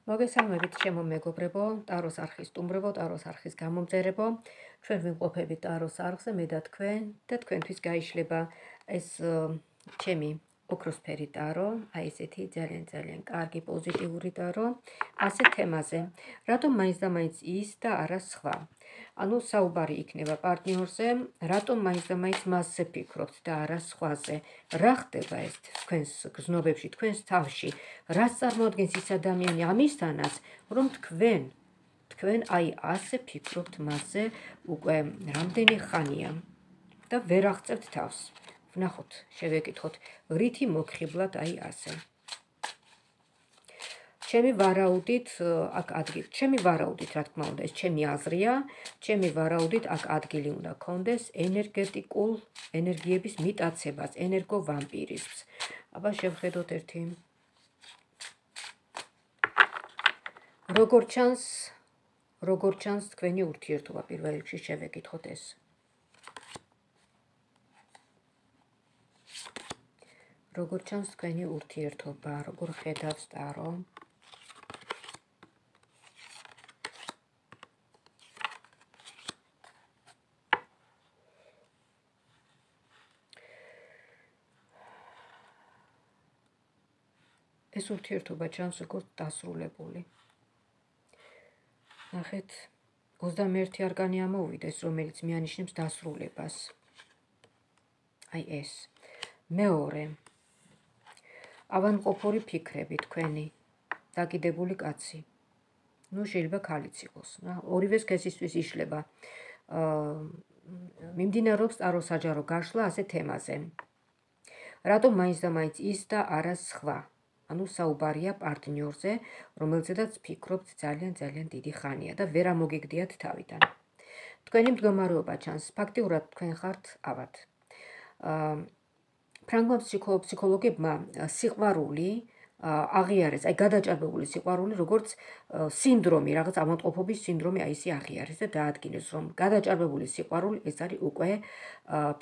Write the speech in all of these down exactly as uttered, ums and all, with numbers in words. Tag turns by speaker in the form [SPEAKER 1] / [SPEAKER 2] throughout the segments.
[SPEAKER 1] მოგესალმებით ჩემო მეგობრებო, ტაროს არხის სტუმრებო, ტაროს არხის გამომწერებო. ჩვენ ვიმყოფებით ტაროს არხზე, მე და თქვენ და თქვენთვის გაიშლება ეს ჩემი ოქროსფერი ტარო, აი ესეთი ძალიან ძალიან კარგი პოზიტიური ტარო, ასე თემაზე. რატომ მაინც და მაინც ის და არა სხვა? ანუ საუბარი იქნება პარტნიორზე, რატომ მაინც და მაინც მასზე ფიქრობთ და არა სხვაზე? რა ხდება ეს თქვენს გზნობებში, თქვენს თავში? რას წარმოადგენს ის ადამიანი ამისთანაც, რომ თქვენ, თქვენ აი ასე ფიქრობთ მასზე უკვე რამდენი ხანია და ვერ აღწევთ თავს? ვნახოთ, შევეკითხოთ, რითი მოგხიბლად აი ასე. ჩემი ვარაუდით აქ ადგილი, ჩემი ვარაუდით, რა თქმა უნდა, ეს ჩემი აზრია, ჩემი ვარაუდით აქ ადგილი უნდა კონდეს ენერგეტიკულ ენერგიების მიტაცებას, ენერგოვამპირიზმს. აბა შევხედოთ ერთი. როგორ ჩანს, როგორ ჩანს თქვენი ურთიერთობა, პირველ რიგში შევეკითხოთ ეს. როგორ ჩანს თქვენი ურთიერთობა, როგორ ხედავს ტარო? ეს ურთიერთობა ჩანს როგორც დასრულებული. ნახეთ, ოცდამეერთი არკანი ამოვიდეს, რომელიც მიანიშნებს დასრულებას. აი ეს. მეორე. ავანმყოფური ფიქრები თქვენი, დაკიდებული კაცი. ნუ შეიძლება ქალიც იყოს. ორივე სქესისთვის იშლება. მიმდინარეობს ტარო საჯარო გაშლა ასე თემაზე. რატომ მაინც და მაინც ის და არა სხვა? ანუ საუბარია პარტნიორზე, რომელზედაც ფიქრობთ ძალიან ძალიან დიდი ხანია და ვერ ამოგიგდიათ თავიდან. თქვენი მდგომარეობა ჩანს, ფაქტიურად თქვენ ხართ ავად. ფრანგმა ფსიქოლოგებმა სიყვარული აღიარეს, აი გადაჭარბებული სიყვარული, როგორც სინდრომი, რაღაც ავადმყოფობის სინდრომი, აი ისი აღიარეს და დაადგინეს, რომ გადაჭარბებული სიყვარული ეს არის უკვე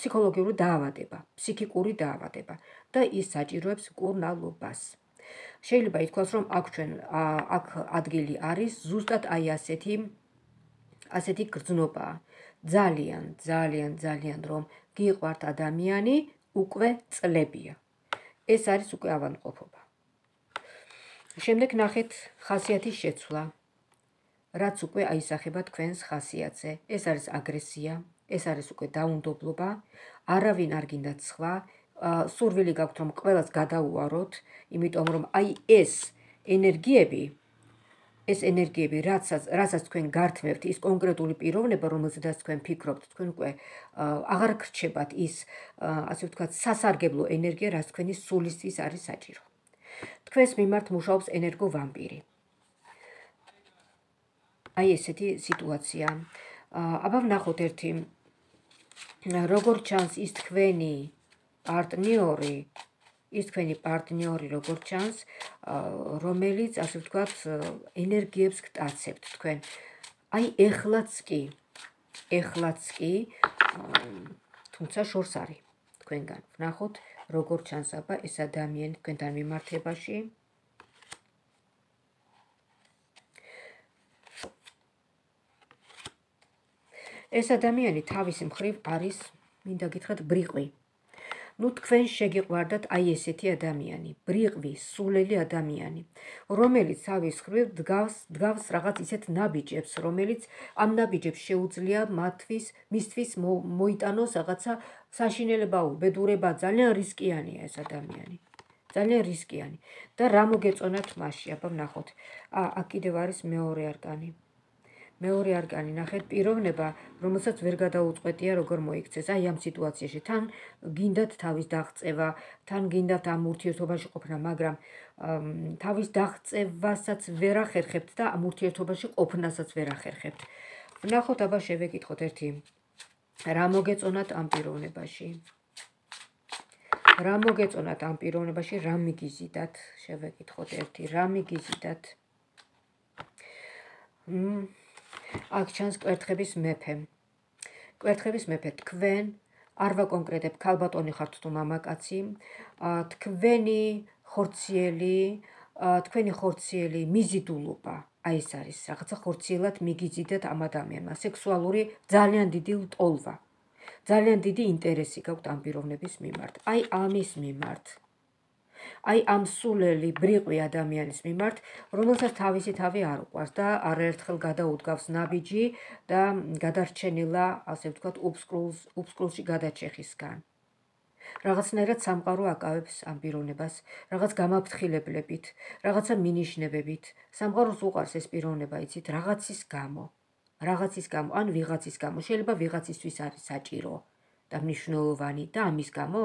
[SPEAKER 1] ფსიქოლოგიური დაავადება, ფსიქიკური დაავადება და ის საჭიროებს მკურნალობას. შეიძლება ითქვას, რომ აქ ჩვენ აქ ადგილი არის ზუსტად აი ასეთი ასეთი გრძნობა. ძალიან, ძალიან, ძალიან რომ გიყვართ ადამიანი უკვე წლებია. ეს არის უკვე ავადმყოფობა. შემდეგ ნახეთ ხასიათის შეცვლა. რაც უკვე აისახება თქვენს ხასიათზე. ეს არის აგრესია, ეს არის უკვე დაუნდობლობა, არავინ არ გინდათ სხვა. სურვილი გაქვთ რომ ყველას გადაუაროთ, იმიტომ რომ აი ეს ენერგიები, ეს ენერგიები, რასაც რასაც თქვენ გართმევთ, ის კონკრეტული პიროვნება, რომელზედაც თქვენ ფიქრობთ, თქვენ უკვე აღარ გრჩებათ ის, ასე ვთქვათ, სასარგებლო ენერგია, რაც თქვენი სულისთვის არის საჭირო. თქვენს მიმართ მუშაობს ენერგოვამპირი. აი ესეთი სიტუაცია. აბა ვნახოთ ერთი, როგორ ჩანს ის თქვენი პარტნიორი, ის თქვენი პარტნიორი როგორ ჩანს, რომელიც, ასე ვთქვათ, ენერგიებს გტაცებთ თქვენ. აი ეხლაც კი, ეხლაც კი, თუმცა შორს არის თქვენგან. ვნახოთ, როგორ ჩანს აბა ეს ადამიანი თქვენთან მიმართებაში. ეს ადამიანი თავის მხრივ არის, მინდა გითხრათ, ბრიყვი. ნუ თქვენ შეგიყვარდათ აი ესეთი ადამიანი, ბრიყვი, სულელი ადამიანი, რომელიც თავის მხრივ დგავს, დგავს რაღაც ისეთ ნაბიჯებს, რომელიც ამ ნაბიჯებს შეუძლია მათთვის, მისთვის მოიტანოს რაღაცა საშინელება, უბედურება, ძალიან რისკიანია ეს ადამიანი. ძალიან რისკიანი. და რა მოგეწონათ მასში, აბა ვნახოთ. აქ კიდევ არის მეორე არკანი. მეორე არკანი, ნახეთ, პიროვნება, რომელსაც ვერ გადაუწყვეტია როგორ მოიქცეს. აი ამ სიტუაციაში თან გინდათ თავის დაღწევა, თან გინდათ ამ ურთიერთობაში ყოფნა, მაგრამ თავის დაღწევასაც ვერ ახერხებთ და ამ ურთიერთობაში ყოფნასაც ვერ ახერხებთ. ვნახოთ, აბა შევეკითხოთ ერთი. რა მოგეწონათ ამ პიროვნებაში? რა მოგეწონათ ამ პიროვნებაში, რა მიგიზიდათ? შევეკითხოთ ერთი, რა მიგიზიდათ? აქ ჩანს კვერთხების მეფე. კვერთხების მეფე, თქვენ არ ვაკონკრეტებ, ქალბატონი ხართ თუ მამაკაცი, თქვენი ხორციელი თქვენი ხორციელი მიზიდულობა, აი ეს არის რაღაცა ხორციელად მიგიზიდეთ ამ ადამიანმა, სექსუალური ძალიან დიდი ლტოლვა, ძალიან დიდი ინტერესი გაქვთ ამ პიროვნების მიმართ, აი ამის მიმართ. აი ამ სულელი ბრიყვი ადამიანის მიმართ, რომელსაც თავისი თავი არ უყვარს და არაერთხელ გადაუდგავს ნაბიჯი და გადარჩენილა, ასე ვთქვათ, უბსკრულში გადაჭეხისგან. რაღაცნაირად სამყარო აკავებს ამ პიროვნებას, რაღაც გამაფრთხილებლებით, რაღაცა მინიშნებებით. სამყაროს უყვარს ეს პიროვნება, იცით, რაღაცის გამო, რაღაცის გამო, ან ვიღაცის გამო, შეიძლება ვიღაცისთვის არის საჭირო და მნიშვნელოვანი და ამის გამო,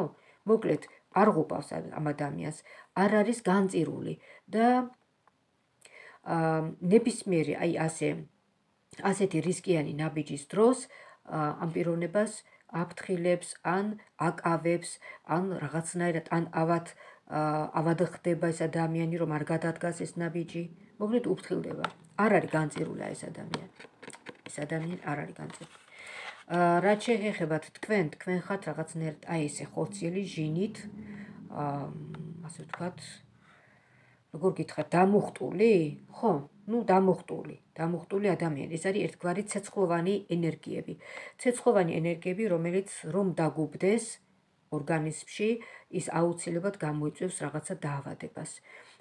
[SPEAKER 1] მოკლედ, არ ღუპავს ამ ადამიანს, არ არის განწირული და ნებისმიერი, აი ასე, ასეთი რისკიანი ნაბიჯის დროს ამ პიროვნებას აფრთხილებს, ან აკავებს, ან რაღაცნაირად, ან ავად ავად ხდება ეს ადამიანი, რომ არ გადადგას ეს ნაბიჯი, მოკლედ უფრთხილდება. არ არის განწირული ეს ადამიანი. ეს ადამიანი არ არის განწირული. რაც შეეხებათ თქვენ, თქვენ ხართ რაღაცნაირად აი ესე ხორციელი ჟინით, ასე ვთქვათ, როგორ გითხრათ, დამუხტული? ხო, ну, დამუხტული, დამუხტული ადამიანი. ეს არის ერთგვარი ცეცხლოვანი ენერგიები. ცეცხლოვანი ენერგიები, რომელიც რომ დაგუბდეს ორგანიზმში, ის აუცილებლად გამოიწვევს რაღაცა დაავადებას.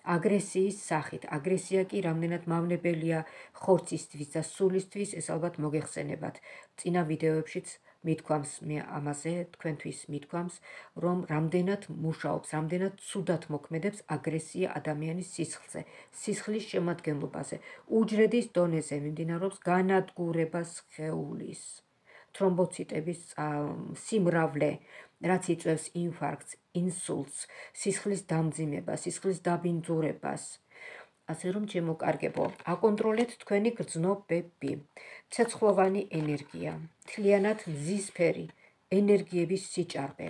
[SPEAKER 1] აგრესიის სახით. აგრესია კი რამდენად მავნებელია ხორცისთვის და სულისთვის, ეს ალბათ მოგეხსენებათ. წინა ვიდეოებშიც მithქვამს მე ამაზე, თქვენთვის მithქვამს, რომ რამდენად მუშაობს, რამდენად ცუდად მოქმედებს აგრესია ადამიანის სისხლზე, სისხლის შემადგენლობაზე, უჯრედის დონეზე მიმდინარეობს განადგურება სხეულის, თრომბოციტების სიმრავლე, რაც იწვევს ინფარქტს, ინსულტს, სისხლის დამძიმებას, სისხლის დაბინძურებას. ასე რომ ჩემოკარგებო, აკონტროლეთ თქვენი გრძნობები. ცეცხლოვანი ენერგია, მთლიანად მზისფერი ენერგიების სიჭარბე.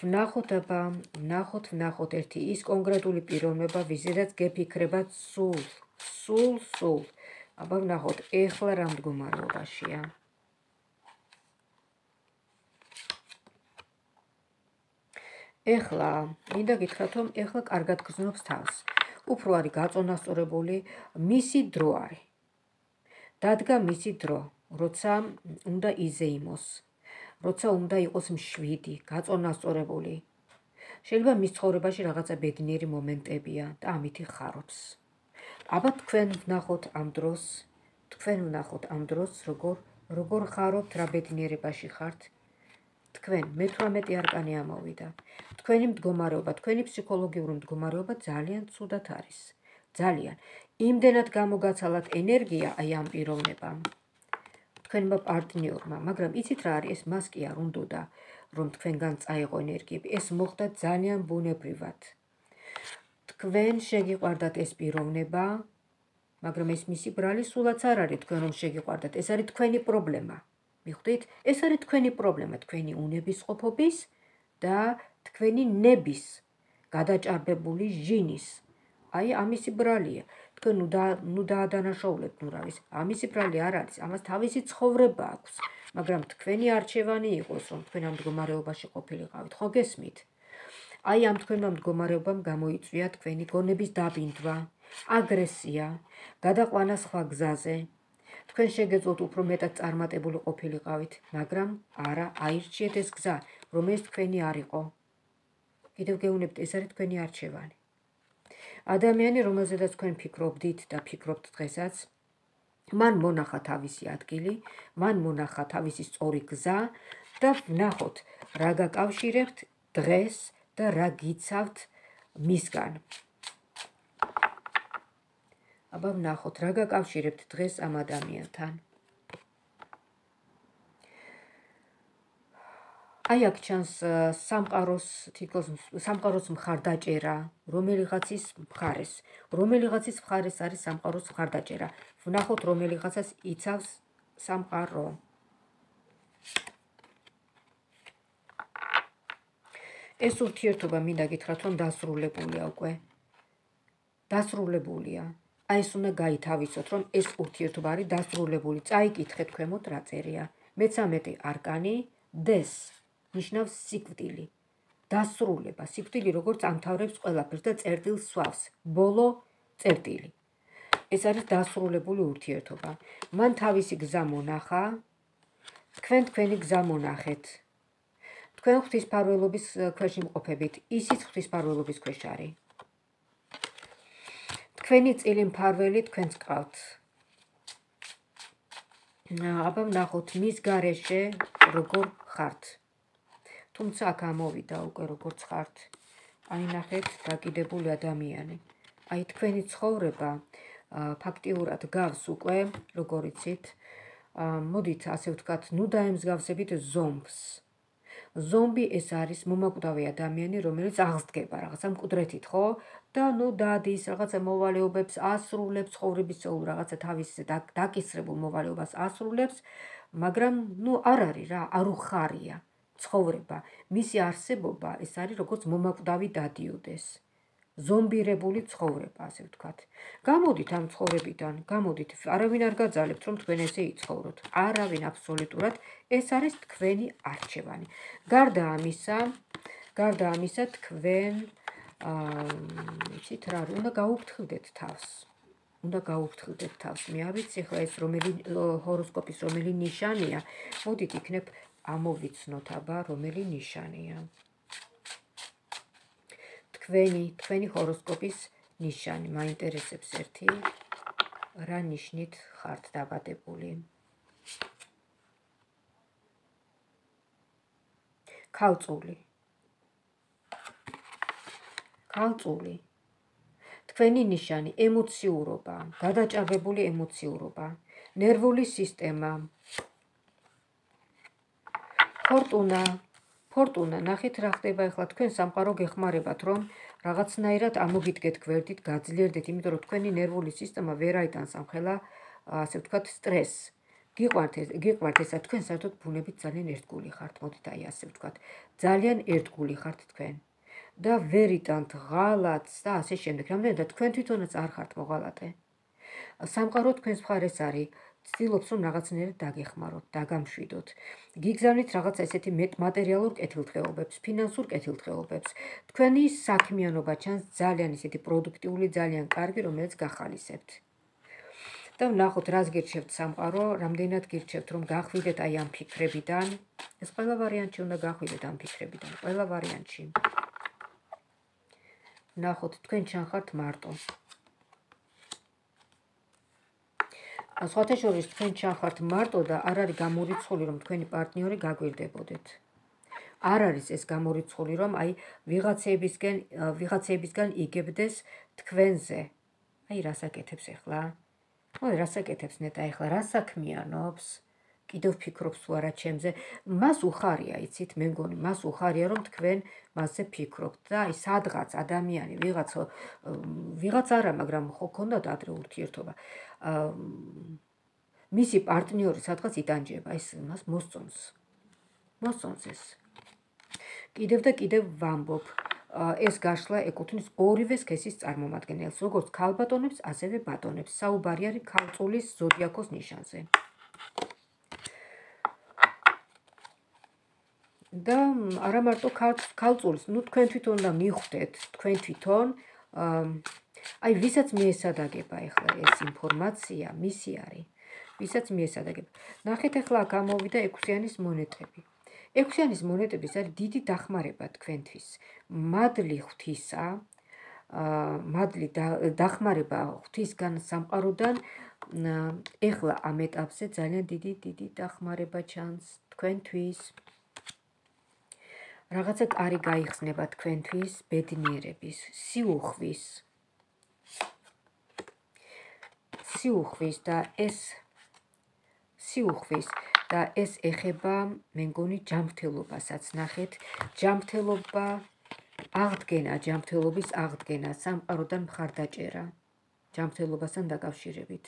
[SPEAKER 1] ვნახოთ აბა, ვნახოთ, ვნახოთ ერთი ის კონკრეტული პიროვნება, ვიზედაც გეფიქრებათ სულ, სულ, სულ. აბა ვნახოთ, ეხლა რა მდგომარეობაშია. ეხლა, მინდა გითხრათ, რომ ეხლა კარგად გრძნობს თავს. უფრო არის გაწონასწორებული, მისი დრო არის. დადგა მისი დრო, როცა უნდა იზეიმოს, როცა უნდა იყოს მშვიდი, გაწონასწორებული. შეიძლება მის ცხოვრებაში რაღაცა ბედნიერი მომენტებია და ამით ხარობს. აბა თქვენ ვნახოთ ამ დროს, თქვენ ვნახოთ ამ დროს, როგორ როგორ ხარობთ, რა ბედნიერებაში ხართ. თქვენ მეთვრამეტე არკანი ამოვიდა. თქვენი მდგომარეობა, თქვენი ფსიქოლოგიური მდგომარეობა ძალიან ცუდად არის. ძალიან. იმდენად გამოგაცალათ ენერგია აი ამ პიროვნებამ. თქვენმა პარტნიორმა, მაგრამ იცით რა არის, ეს მას კი არ უნდოდა, რომ თქვენგან წაიღო ენერგიები, ეს მოხდა ძალიან ბუნებრივად. თქვენ შეგიყვარდათ ეს პიროვნება, მაგრამ ეს მისი ბრალი სულაც არ არის თქვენ რომ შეგიყვარდათ, ეს არის თქვენი პრობლემა. მიხვდით? ეს არის თქვენი პრობლემა, თქვენი უნებისყოფობის და თქვენი ნების გადაჭარბებული ჟინის. აი ამისი ბრალია. თქვენ ნუ დაადანაშაულებთ, ნუ რა ვიცი, ამისი ბრალი არ არის, ამას თავისი ცხოვრება აქვს, მაგრამ თქვენი არჩევანი იყოს, რომ თქვენ ამ მდგომარეობაში ყოფილიყავით, ხო გესმით? აი ამ თქვენმა მდგომარეობამ გამოიწვია თქვენი გონების დაბინდვა, აგრესია, გადაყვანა სხვა გზაზე. თქვენ შეგეძლოთ უფრო მეტად წარმატებული ყოფილიყავით, მაგრამ არა, აირჩიეთ ეს გზა, რომელიც თქვენი არ იყო. კიდევ გეუბნებთ, ეს არის თქვენი არჩევანი. ადამიანი, რომელზედაც თქვენ ფიქრობდით და ფიქრობთ დღესაც, მან მონახა თავისი ადგილი, მან მონახა თავისი სწორი გზა და ვნახოთ, რა გაკავშირებთ დღეს და რა გიცავთ მისგან. აბა ვნახოთ, რა გაკავშირებთ დღეს ამ ადამიანთან. აი აქ ჩანს სამყაროს, თითქოს სამყაროს მხარდაჭერა, რომელიღაცის მხარეს. რომელიღაცის მხარეს არის სამყაროს მხარდაჭერა. ვნახოთ, რომელიღაცას იცავს სამყარო. ეს ურთიერთობა მინდა გითხრათ, რომ დასრულებულია უკვე. დასრულებულია. აი ეს უნდა გაითავისოთ, რომ ეს ურთიერთობა არის დასრულებული. წაიკითხეთ ქვემოთ რა წერია. მეცამეტე არკანი დეს ნიშნავს სიკვდილი. დასრულება, სიკვდილი როგორც ამთავრებს ყველაფერს და წერტილს სვავს, ბოლო წერტილი. ეს არის დასრულებული ურთიერთობა. მან თავისი გზა მონახა, თქვენ თქვენი გზა მონახეთ. თქვენ ღვთისმფარველობის ქვეშ იმყოფებით, ისიც ღვთისმფარველობის ქვეშ არის. თქვენი წილი მფარველი თქვენს გყავთ. აბა ვნახოთ მის გარეშე როგორ ხართ. თუმცა აქ ამოვიდა უკვე როგორც ხართ. აი ნახეთ, დაკიდებული ადამიანი. აი თქვენი ცხოვრება ფაქტიურად გავს უკვე, როგორ იცით, მოდით ასე ვთქვათ, ნუ დაემსგავსებით ზომბს. ზომბი ეს არის მომაკვდავი ადამიანი, რომელიც აღსდგება რაღაცა მკვდრეთით, ხო? და ნუ დადის რაღაცა მოვალეობებს ასრულებს, ცხოვრების წეულ რაღაცა თავის დაკისრებულ მოვალეობას ასრულებს, მაგრამ ნუ არ არის რა, არ უხარია ცხოვრება. მისი არსებობა ეს არის როგორც მომაკვდავი დადიოდეს. ზომბირებული ცხოვრება, ასე ვთქვათ. გამოდით ამ ცხოვრებიდან, გამოდით, არავინ არ გაძალებთ, რომ თქვენ ესე იცხოვროთ. არავინ აბსოლუტურად, ეს არის თქვენი არჩევანი. გარდა ამისა, გარდა ამისა თქვენ იცით რა, უნდა გაუფრთხილდეთ თავს. უნდა გაუფრთხილდეთ თავს. მე არ ვიცი ახლა ეს რომელი ჰოროსკოპის რომელი ნიშანია. მოდით იქნებ ამოვიცნოთ აბა რომელი ნიშანია. თქვენი, თქვენი ჰოროსკოპის ნიშანი, მაინტერესებს ერთი, რა ნიშნით ხართ დაბადებული. ქალწული. ქალწული. თქვენი ნიშანი, ემოციურობა, გადაჭარბებული ემოციურობა, ნერვული სისტემა. ფორტუნა. ფორტუნა, ნახეთ რა ხდება ახლა თქვენ სამყარო გეხმარებათ, რომ რაღაცნაირად ამოგიდგეთ გვერდით, გაძლიერდეთ, იმიტომ რომ თქვენი ნერვული სისტემა ვერ აიტანს ამ ხელა, ასე ვთქვათ, სტრესს. გიყვართ ეს, გიყვართ ესა, თქვენ საერთოდ ბუნებით ძალიან ერთგული ხართ, მოდით აი ასე ვთქვათ. ძალიან ერთგული ხართ თქვენ. და ვერ იტანთ ღალატს და ასე შემდეგ. რამდენადაც თქვენ თვითონაც არ ხართ მოღალატე. სამყარო თქვენს მხარეს არის. ცდილობს რომ რაღაცნაირად დაგეხმაროთ, დაგამშვიდოთ. გიგზავნით რაღაც ესეთი მატერიალურ კეთილდღეობებს, ფინანსურ კეთილდღეობებს. თქვენი საქმიანობა ჩანს ძალიან ისეთი პროდუქტიული, ძალიან კარგი, რომელიც გახალისებთ. და ვნახოთ, რას გირჩევთ სამყარო, რამდენად გირჩევთ რომ გახვიდეთ აი ამ ფიქრებიდან. ეს ყველა ვარიანტში უნდა გახვიდეთ ამ ფიქრებიდან, ყველა ვარიანტში. ვნახოთ, თქვენ ჩანხართ მარტო. სხვათა შორის თქვენ ჩანხართ მარტო და არ არის გამორიცხული რომ თქვენი პარტნიორი გაგვირდებოდეთ. არ არის ეს გამორიცხული რომ აი ვიღაცეებისგან ვიღაცეებისგან იგებდეს თქვენზე. აი რას აკეთებს ახლა? ой, რას აკეთებს ნეტა ახლა? რა საქმიანობს? კიდევ ფიქრობს თუ არა ჩემზე? მას უხარია, იცით, მე მგონი, მას უხარია რომ თქვენ მასზე ფიქრობთ და აი სადღაც ადამიანი ვიღაც ვიღაც არა, მაგრამ ხო ქონდათ ადრე ურთიერთობა. მისი პარტნიორი სადღაც იტანჯება, ეს მას მოსწონს. მოსწონს ეს. კიდევ და კიდევ ვამბობ, ეს გაშლა ეკუთვნის ორივე სქესის წარმომადგენელს, როგორც ქალბატონებს, ასევე ბატონებს. საუბარი არის ქალწულის ზოდიაქოს ნიშანზე. და არა მარტო ქალწულის, ნუ თქვენ თვითონ და მიხვდეთ, თქვენ თვითონ, აი ვისაც მიესადაგება ახლა ეს ინფორმაცია, მისი არის, ვისაც მიესადაგება. ნახეთ ახლა აქ ამოვიდა ექვსიანის მონეტები. ექვსიანის მონეტების არის დიდი დახმარება თქვენთვის. მადლი ღვთისა, მადლი დახმარება ღვთისგან სამყაროდან, ახლა ამ ეტაპზე ძალიან დიდი დიდი დახმარება ჩანს თქვენთვის. რაღაცა კარი გაიხსნება თქვენთვის ბედნიერების, სიუხვის. სიუხვის და ეს სიუხვის და ეს ეხება, მე მგონი, ჯანმრთელობასაც. ნახეთ, ჯანმრთელობა, აღდგენა, ჯანმრთელობის აღდგენა, სამყაროდან მხარდაჭერა, ჯანმრთელობასთან დაკავშირებით.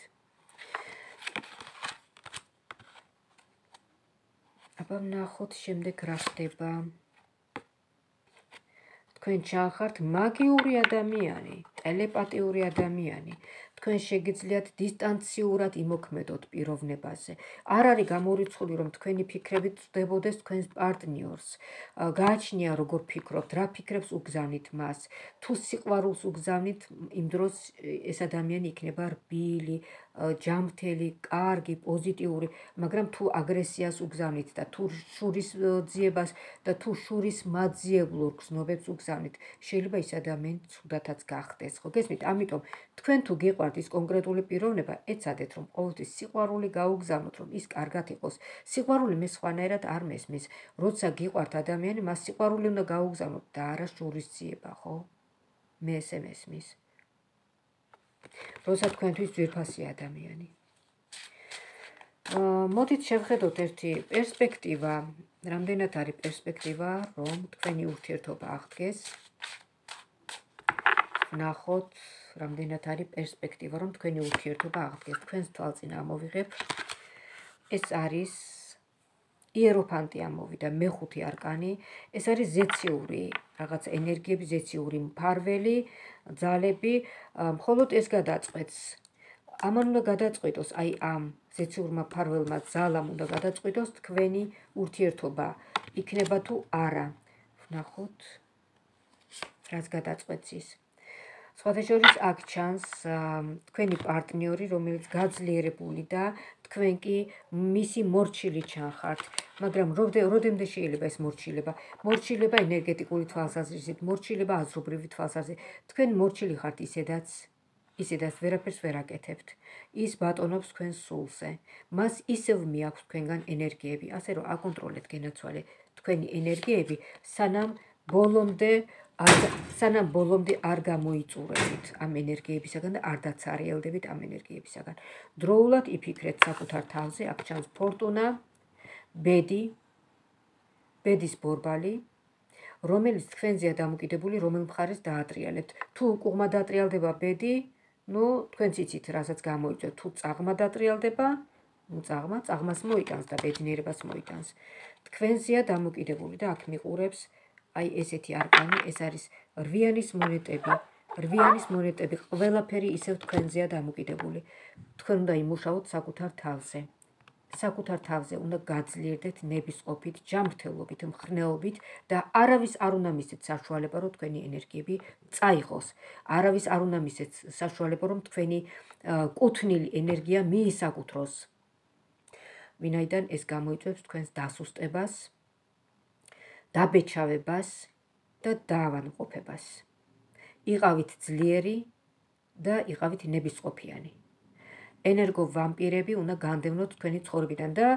[SPEAKER 1] აბა ვნახოთ შემდეგ რა ხდება. თქვენ ჩანხართ მაგიური ადამიანი, ტელეპათიური ადამიანი. თქვენ შეგიძლიათ დისტანციურად იმოქმედოთ პიროვნებაზე. არ არის გამორიცხული, რომ თქვენი ფიქრები წვდებოდეს თქვენს პარტნიორს. გააჩნია როგორ ფიქრობთ, რა ფიქრებს უგზავნით მას. თუ სიყვარულს უგზავნით, იმ დროს ეს ადამიანი იქნება რბილი, ჯანმრთელი, კარგი, პოზიტიური, მაგრამ თუ აგრესიას უგზავნით და თუ შურისძიებას და თუ შურის მაძიებლურ გზნობებს უგზავნით, შეიძლება ის ადამიანი ცუდათაც გახდეს, ხო გესმით? ამიტომ თქვენ თუ გიყვართ ის კონკრეტული პიროვნება, ეცადეთ რომ ყოველთვის სიყვარული გაუგზავნოთ, რომ ის კარგად იყოს. სიყვარული მე სხვანაირად არ მესმის. როცა გიყვართ ადამიანი, მას სიყვარული უნდა გაუგზავნოთ და არა შურისძიება, ხო? მე ესე მესმის. როცა თქვენთვის ძვირფასი ადამიანი. მოდით შევხედოთ ერთი პერსპექტივა, რამდენად არის პერსპექტივა, რომ თქვენი ურთიერთობა აღდგეს. ნახოთ, რამდენად არის პერსპექტივა, რომ თქვენი ურთიერთობა აღდგეს. თქვენს თვალწინ ამოვიღებ. ეს არის იეროფანტი ამოვიდა, მეხუთე არკანი. ეს არის ზეციური, რაღაც ენერგიები, ზეციური მფარველი, ძალები, მხოლოდ ეს გადაწყვეტს. ამან უნდა გადაწყვეტოს, აი ამ ზეციურმა მფარველმა ძალამ უნდა გადაწყვეტოს თქვენი ურთიერთობა იქნება თუ არა. ვნახოთ, რაც გადაწყვეტს ის. სხვათა შორის აქ ჩანს თქვენი პარტნიორი, რომელიც გაძლიერებული და თქვენ კი მისი მორჩილი ჩანხართ. მაგრამ როდემდე შეიძლება ეს მორჩილება? მორჩილება ენერგეტიკული თვალსაზრისით, მორჩილება აზრობრივი თვალსაზრისით. თქვენ მორჩილი ხართ ისედაც, ისედაც ვერაფერს ვერ აკეთებთ. ის ბატონობს თქვენს სულზე. მას ისევ მიაქვს თქვენგან ენერგიები, ასე რომ აკონტროლეთ, გენაცვალე თქვენი ენერგიები, სანამ ბოლომდე სანამ ბოლომდე არ გამოიწურებით ამ ენერგიებისაგან და არ დაცარიელდებით ამ ენერგიებისაგან. დროულად იფიქრეთ საკუთარ თავზე, აქ ჩანს ფორტუნა, ბედი, ბედის ბორბალი, რომელიც თქვენზეა დამოკიდებული, რომელ მხარეს დაატრიალებთ. თუ უკუღმა დაატრიალდება ბედი, ნუ თქვენც იცით, რასაც გამოიწვევთ. თუ წაღმა დაატრიალდება, ნუ წაღმა, წაღმას მოიტანს და ბედნიერებას მოიტანს. თქვენზეა დამოკიდებული და აქ მიყურებს აი ესეთი არკანი, ეს არის რვიანის მონეტები. რვიანის მონეტები, ყველაფერი ისევ თქვენზეა დამოკიდებული. თქვენ უნდა იმუშაოთ საკუთარ თავზე. საკუთარ თავზე უნდა გაძლიერდეთ ნებისყოფით, ჯანმრთელობით, მხნეობით და არავის არ უნდა მისცეთ საშუალება, რომ თქვენი ენერგიები წაიღოს. არავის არ უნდა მისცეთ საშუალება, რომ თქვენი კუთვნილი ენერგია მიისაკუთროს. ვინაიდან ეს გამოიწვევს თქვენს დასუსტებას, დაბეჭავებას და დაავადმყოფებას. იყავით ძლიერი და იყავით ნებისყოფიანი. ენერგო ვამპირები უნდა განდევნოთ თქვენი ცხოვრებიდან და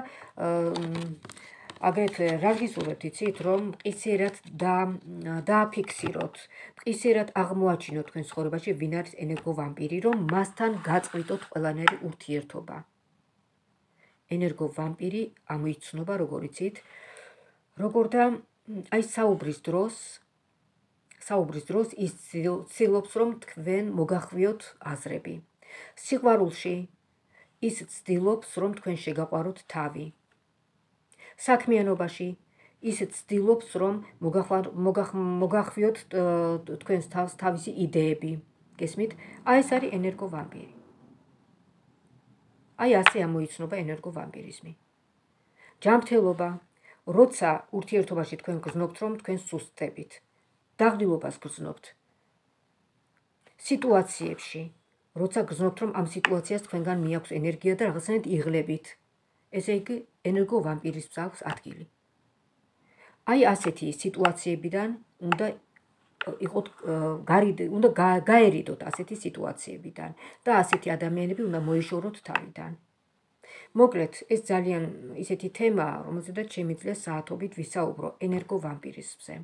[SPEAKER 1] აგრეთვე რა გისურვებთ, იცით, რომ მყისიერად დააფიქსიროთ, მყისიერად აღმოაჩინოთ თქვენ ცხოვრებაში ვინ არის ენერგო ვამპირი, რომ მასთან გაწყვიტოთ ყველანაირი ურთიერთობა. ენერგო ვამპირი ამოიცნობა, როგორ იცით, როგორ და აი საუბრის დროს, საუბრის დროს ის ცდილობს, რომ თქვენ მოგახვიოთ აზრები. სიყვარულში ის ცდილობს, რომ თქვენ შეგაყვაროთ თავი. საქმიანობაში ის ცდილობს, რომ მოგახვიოთ თქვენს თავს თავისი იდეები. გესმით? აი ეს არის ენერგო ვამპირი. აი ასე ამოიცნობა ენერგო ვამპირიზმი. ჯანმრთელობა, როცა ურთიერთობაში თქვენ გრძნობთ, რომ თქვენ სუსტებით. დაღლილობას გრძნობთ. სიტუაციებში, როცა გრძნობთ, რომ ამ სიტუაციას თქვენგან მიაქვს ენერგია და რაღაცნაირად იღლებით. ესე იგი, ენერგო ვამპირიზმს აქვს ადგილი. აი ასეთი სიტუაციებიდან უნდა იყოთ უნდა გაერიდოთ ასეთი სიტუაციებიდან და ასეთი ადამიანები უნდა მოიშოროთ თავიდან. მოკლედ, ეს ძალიან ისეთი თემაა, რომელზედაც შემიძლია საათობით ვისაუბრო ენერგო ვამპირიზმზე.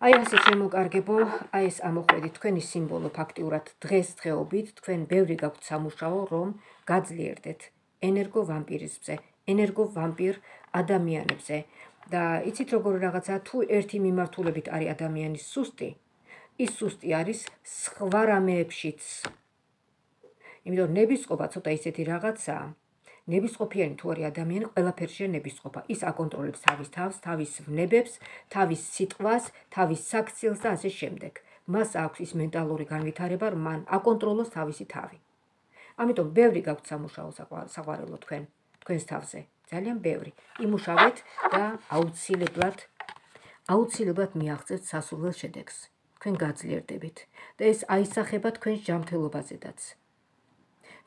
[SPEAKER 1] აი ასე შემოკარგებო, აი ეს ამოხვედით თქვენი სიმბოლო ფაქტიურად დღესდღეობით, თქვენ ბევრი გაქვთ სამუშაო, რომ გაძლიერდეთ ენერგო ვამპირიზმზე, ენერგო ვამპირ ადამიანებზე. და იცით როგორ რაღაცა, თუ ერთი მიმართულებით არის ადამიანის სუსტი, ის სუსტი არის სხვა რამეებშიც. იმიტომ ნებისყოფა ცოტა ისეთი რაღაცაა, ნებისყოფიანი თუ არის ადამიანი, ყველაფერშია ნებისყოფა. ის აკონტროლებს თავის თავს, თავის ვნებებს, თავის სიტყვას, თავის საქციელს და ასე შემდეგ. მას აქვს ის მენტალური განვითარება, რომ მან აკონტროლოს თავისი თავი. ამიტომ ბევრი გაქვთ სამუშაო საყვარელო თქვენ, თქვენს თავზე, ძალიან ბევრი. იმუშავეთ და აუცილებლად აუცილებლად მიაღწევთ სასურველ შედეგს. თქვენ გაძლიერდებით და ეს აისახება თქვენს ჯანმრთელობაზედაც.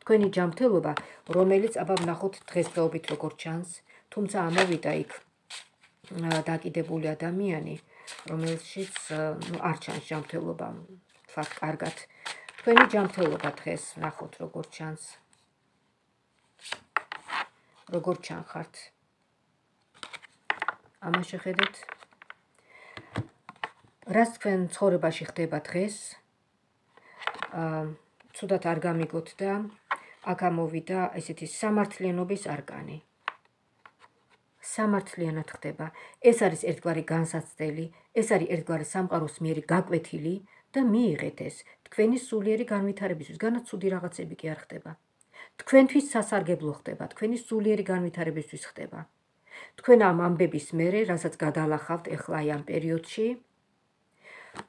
[SPEAKER 1] თქვენი ჯანმრთელობა, რომელიც აბა ვნახოთ დღესდღეობით როგორ ჩანს, თუმცა ამოვიდა იქ დაკიდებული ადამიანი, რომელშიც არ ჩანს ჯანმრთელობა, თქვათ კარგად. თქვენი ჯანმრთელობა დღეს ვნახოთ როგორ ჩანს. როგორ ჩანხართ. ამას შეხედეთ. რაც თქვენ ცხოვრებაში ხდება დღეს, ცუდად არ გამიგოთ და აქ ამოვიდა ესეთი სამართლიანობის არკანი. სამართლიანად ხდება. ეს არის ერთგვარი განსაცდელი, ეს არის ერთგვარი სამყაროს მიერ გაკვეთილი და მიიღეთ ეს თქვენი სულიერი განვითარებისთვის, განაც ცუდი რაღაცები კი არ ხდება. თქვენთვის სასარგებლო ხდება, თქვენი სულიერი განვითარებისთვის ხდება. თქვენ ამ ამბების მერე, რასაც გადალახავთ ეხლა აი ამ პერიოდში,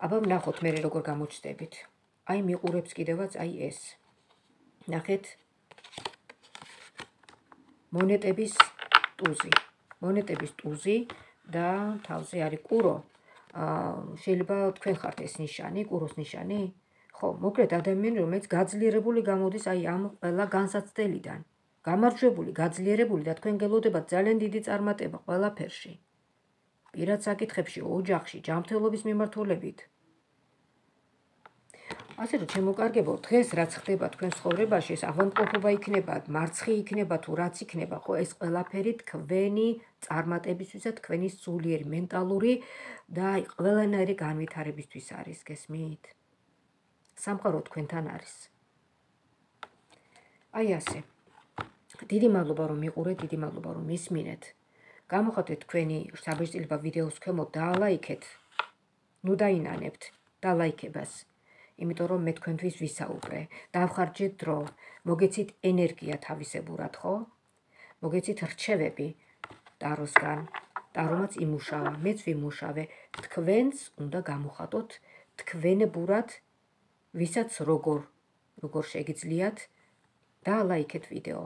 [SPEAKER 1] აბა ვნახოთ მერე როგორ გამოჩნდებით. აი მიყურებს კიდევაც აი ეს. ნახეთ. მონეტების ტუზი. მონეტების ტუზი და თავზე არის კურო. შეიძლება თქვენ ხართ ეს ნიშანი, კუროს ნიშანი? ხო, მოკლედ ადამიანი, რომელიც გაძლიერებული გამოდის აი ამ ყველა განსაცდელიდან. გამარჯვებული, გაძლიერებული და თქვენ გელოდებათ ძალიან დიდი წარმატება ყველაფერში. პირად საკითხებში, ოჯახში, ჯანმრთელობის მიმართულებით. ასე რომ შემოკარგებო, დღეს რაც ხდება თქვენ ცხოვრებაში, ეს ავადმყოფობა იქნება, მარცხი იქნება თუ რაც იქნება, ხო, ეს ყველაფერი თქვენი წარმატებისთვის და თქვენი სულიერი მენტალური და ყველანაირი განვითარებისთვის არის, გესმით? სამყარო თქვენთან არის. აი ასე. დიდი მადლობა რომ მიყურეთ, დიდი მადლობა რომ მისმინეთ. გამოხატეთ თქვენი საბეჭდილება ვიდეოს ქვემოთ და ლაიქეთ. ნუ დაინანებთ დალაიქებას. იმიტომ რომ მე თქვენთვის ვისაუბრე. დავხარჯეთ დრო, მოგეცით ენერგია თავისებურად, ხო? მოგეცით რჩევები ტაროსგან. ტარომაც იმუშავა, მეც ვიმუშავე. თქვენს უნდა გამოხატოთ თქვენებურად, ვისაც როგორ, როგორ შეგიძლიათ და ლაიქეთ ვიდეო.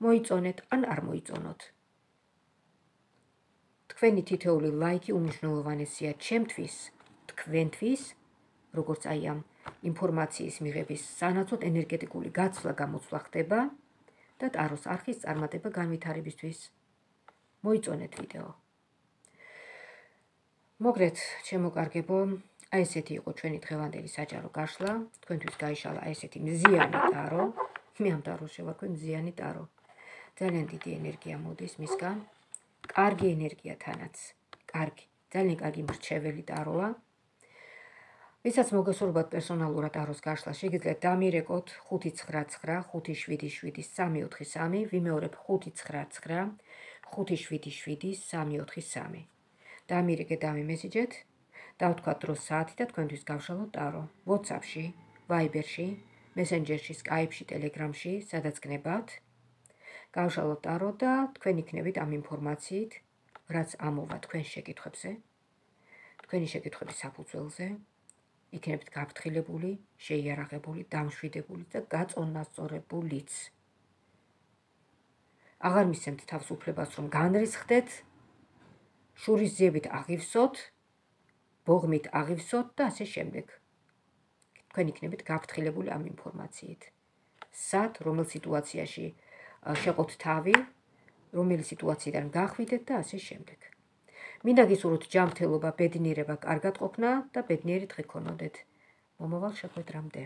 [SPEAKER 1] მოიწონეთ ან არ მოიწონოთ. თქვენი თითოეული ლაიქი უმნიშვნელოვანესია ჩემთვის, თქვენთვის, როგორც აი ამ ინფორმაციის მიღების სანაცვლოდ ენერგეტიკული გაცვლა გამოცვლა ხდება და ტაროს არხის წარმატება განვითარებისთვის. მოიწონეთ ვიდეო. მოგრეთ, შემოკარგებო, აი ესეთი იყო ჩვენი დღევანდელი საჯარო გაშლა. თქვენთვის გაიშალა აი ესეთი მზიანი ტარო. მე ამ ტაროს შევარქვი მზიანი ტარო. ძალიან დიდი ენერგია მოდის მისგან. კარგი ენერგია თანაც. კარგი, ძალიან კარგი მრჩეველი ტაროა. ვისაც მოგესურვებათ პერსონალურად ტაროს გაშლა, შეგიძლიათ დამირეკოთ ხუთი ცხრა ცხრა ხუთი შვიდი შვიდი სამი ოთხი სამი, ვიმეორებ ხუთი ცხრა ცხრა ხუთი შვიდი შვიდი სამი ოთხი სამი. დამირეკეთ, დამიმესიჯეთ, დავთქვათ დროს საათი და თქვენთვის გავშალოთ ტარო. WhatsApp-ში, Viber-ში, Messenger-ში, Skype-ში, Telegram-ში, სადაც გნებავთ. გავშალოთ ტარო და თქვენ იქნებით ამ ინფორმაციით, რაც ამოვა თქვენ შეკითხვებზე, თქვენი შეკითხვების საფუძველზე. იქნებით გაფრთხილებული, შეიარაღებული, დამშვიდებული და გაწონასწორებულიც. აღარ მისცემთ თავს უფლებას, რომ განრისხდეთ, შურისძიებით აღივსოთ, ბოღმით აღივსოთ და ასე შემდეგ. თქვენ იქნებით გაფრთხილებული ამ ინფორმაციით. სად, რომელ სიტუაციაში შეყოთ თავი, რომელი სიტუაციიდან გახვიდეთ და ასე შემდეგ. მინდა გისურვოთ ჯანმრთელობა, ბედნიერება, კარგად ყოფნა და ბედნიერი დღე გქონოდეთ. მომავალ შეხვედრამდე.